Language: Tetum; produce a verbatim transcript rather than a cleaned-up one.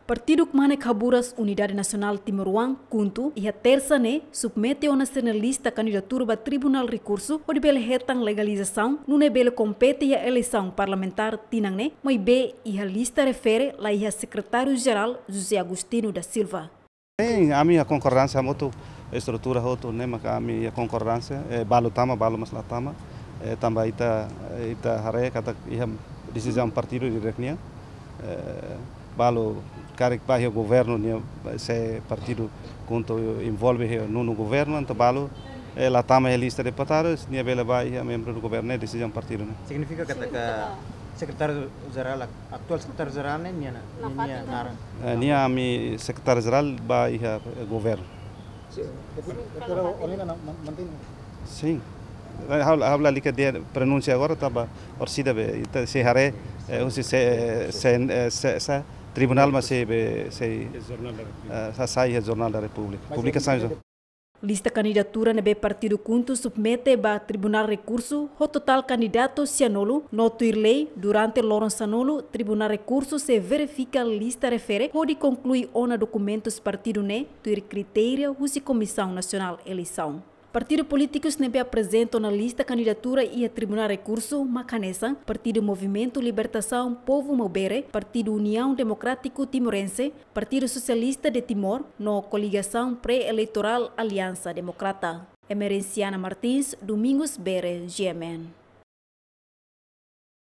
Partidu Kmanek Haburas Unidade Nasionál Timoroan, KHUNTO, iha Tersa ne'e submete ona sira-nia lista kandidatura ba Tribunál Rekursu hodi bele hetan legalizasaun, nune'e bele kompete iha eleisaun parlamentár tinan ne'e, maibé iha lista refere la iha Sekretáriu Jerál José Agostinho da Silva. Sin, ami iha konkordánsia hamutuk, estrutura hotu ne'e maka ami iha konkordánsia, eh, balu tama, balu mós la tama, eh, tanba ita, eh, ita haree katak iha desizaun partidu diretu nian, eh, balu karik ba iha governu nian, se partidu KHUNTO envolve iha nonu governu, entaun balu, eh, la tama iha lista deputadu, nia bele ba iha membru do governu, ne'e desizaun partidu ne'e. Signifika katak Sekretáriu Jerál, atuál Sekretáriu Jerál ne'e nia, nia, nia naran. Eh, nia ami Sekretáriu Jerál ba iha, eh, governu. Sin. Ha'u, ha'u lalika dehan pronúnsia agora tanba orsida be, ita sei haree, eh, husi se, se, eh, se, se, tribunál mós sei be, sei, eh, sa-, sai iha Jornál da Repúblika. Publikasaun. Lista kandidatura ne'ebé partidu KHUNTO submete ba Tribunál Rekursu ho totál kandidatu sianulu, no tuir lei, durante loron sanulu, Tribunál Rekursu sei verifika lista refere hodi konklui ona dokumentus partidu ne'e tuir kritéria husi Komisaun Nasionál Eleisaun. Partidu polítikus ne'ebé aprezenta ona lista kandidatura iha Tribunál Rekursu mak hanesan Partidu Movimentu Libertasaun Povu Maubere, Partidu Uniaun Demokrátiku Timorense, Partidu Sosialista de Timor, no koligasaun pré-eleitorál Aliansa Demokrata. Emerenciana Martins, Domingos Bere, G M N.